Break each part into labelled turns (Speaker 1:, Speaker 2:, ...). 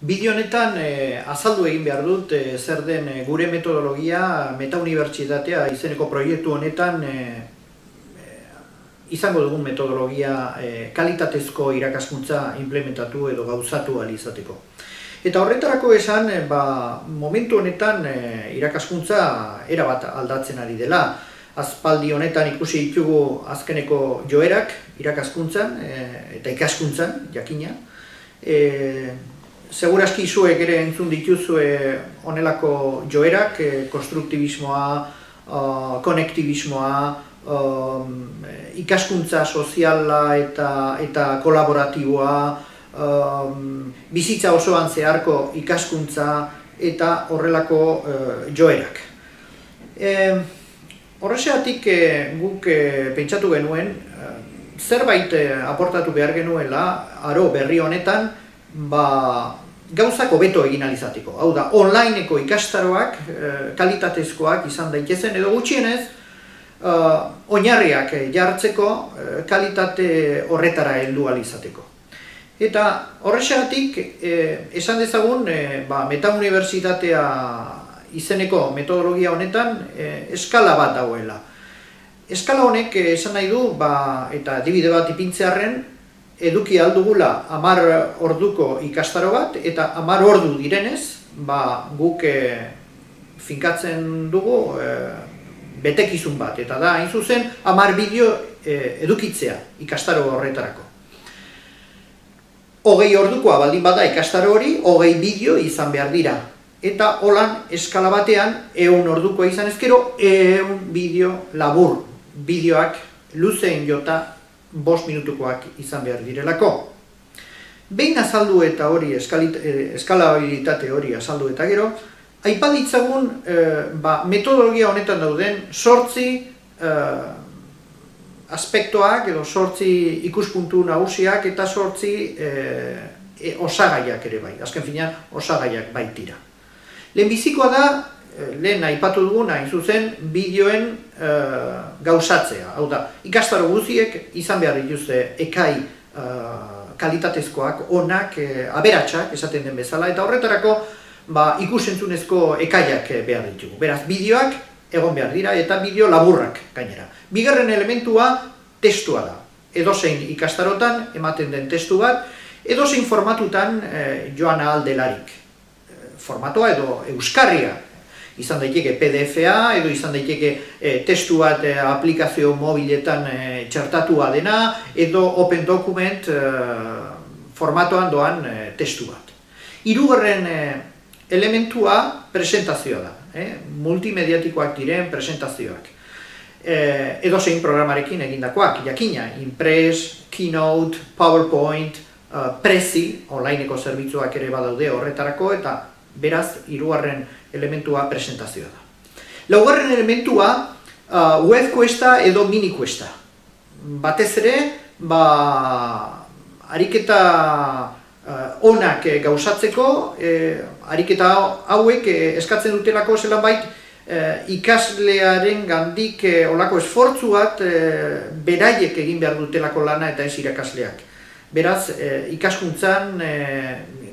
Speaker 1: Bideo honetan azaldu egin behar dut zer den gure metodologia Metaunibertsitatea izeneko proiektu honetan izango dugun metodologia kalitatezko irakaskuntza implementatu edo gauzatu ahal izateko. Eta horretarako esan, momentu honetan irakaskuntza erabat aldatzen ari dela. Aspaldi honetan ikusi ditugu azkeneko joerak irakaskuntzan eta ikaskuntzan, jakina. Seguraski zuek ere entzun dituzue honelako joerak, konstruktibismoa, konektibismoa, ikaskuntza soziala eta kolaboratiboa, bizitza osoan zeharko ikaskuntza eta horrelako joerak. Horrexegatik guk pentsatu genuen, zerbait aportatu behar genuela, aro berri honetan, gauzak hobeto egin ahal izateko. Hau da, onlineko ikastaroak kalitatezkoak izan daitezen edo gutxienez, oinarriak jartzeko kalitate horretara heldu ahal izateko. Eta horrexegatik esan dezagun Metaunibertsitatea izeneko metodologia honetan eskala bat dagoela. Eskala honek esan nahi du, eta adibide bat ipintzearren, eduki aldugula 10 orduko ikastaro bat, eta 10 ordu direnez, guk finkatzen dugu betekizun bat, eta da, hain zuzen, 10 bideo edukitzea ikastaro horretarako. 20 ordukoa baldin bada ikastaro hori, 20 bideo izan behar dira. Eta holan eskala batean, 100 ordukoa izan ezkero, 100 bideo labur, bideoak luzeen jota 5 minutukoak izan behar direlako. Behin azaldu eta hori, eskalabilitate hori azaldu eta gero, aipaditzagun metodologia honetan dauden 8 aspektoak edo 8 ikuspuntu nagusiak eta 8 osagaiak ere bai. Azken finean, osagaiak baitira. Lehenbizikoa da, lehen aipatu dugun, hain zuzen, bideoen gauzatzea. Hau da, ikastaro guztiek izan behar dituzte ekai kalitatezkoak, onak, aberatsak, esaten den bezala, eta horretarako ikusentzunezko ekaiak behar ditugu. Beraz, bideoak egon behar dira eta bideo laburrak gainera. Bigarren elementua testua da. Edozein ikastarotan ematen den testu bat, edozein formatutan joan ahal delarik. Formatoa edo euskarria. Izan daiteke PDF-a, edo izan daiteke testu bat aplikazio mobiletan txertatua dena, edo Open Document formatoan doan testu bat. Hirugarren elementua presentazioa da, multimediatikoak diren presentazioak. Edozein programarekin egindakoak, jakina, Impress, Keynote, PowerPoint, Prezi, onlineko zerbitzuak ere badaude horretarako, eta beraz, hirugarren elementua presentazioa da. Laugarren elementua web-kuesta edo mini-kuesta. Batez ere, ariketa onak gauzatzeko, ariketa hauek eskatzen dutelako zelan bait ikaslearen gandik olako esfortzu bat beraiek egin behar dutelako lana eta ez irakasleak. Beraz, ikaskuntzan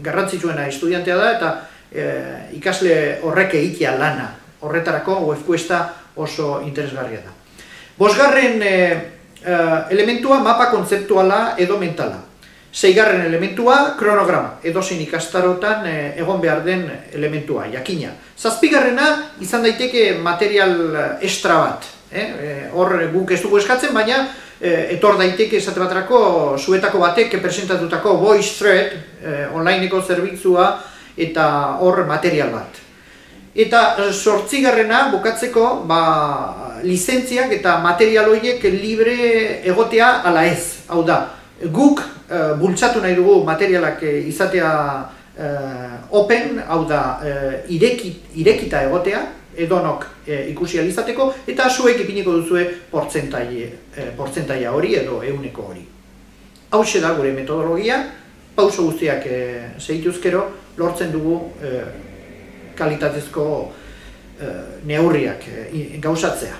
Speaker 1: garrantzitsuena estudiantea da eta ikasle horrek egitea lana. Horretarako web-kuesta oso interesgarria da. Bosgarren elementua mapa kontzeptuala edo mentala. Seigarren elementua kronograma, edozein ikastarotan egon behar den elementua, jakina. Zazpigarrena izan daiteke material extra bat. Hor guk ez dugu eskatzen, baina etor daiteke esate baterako zuetako batek presentatutako voice thread, onlineko zerbitzua, eta hor material bat. Eta 8. bukatzeko lizentziak eta material horiek libre egotea ala ez. Hau da, guk bultzatu nahi dugu materialak izatea open, hau da, irekita egotea, edonok ikusi ahal izateko, eta zuek ipiniko duzue portzentaia hori edo 100 hori. Hauxe da gure metodologia, pauso guztiak segituzkero, lortzen dugu kalitatezko neurriak gauzatzea.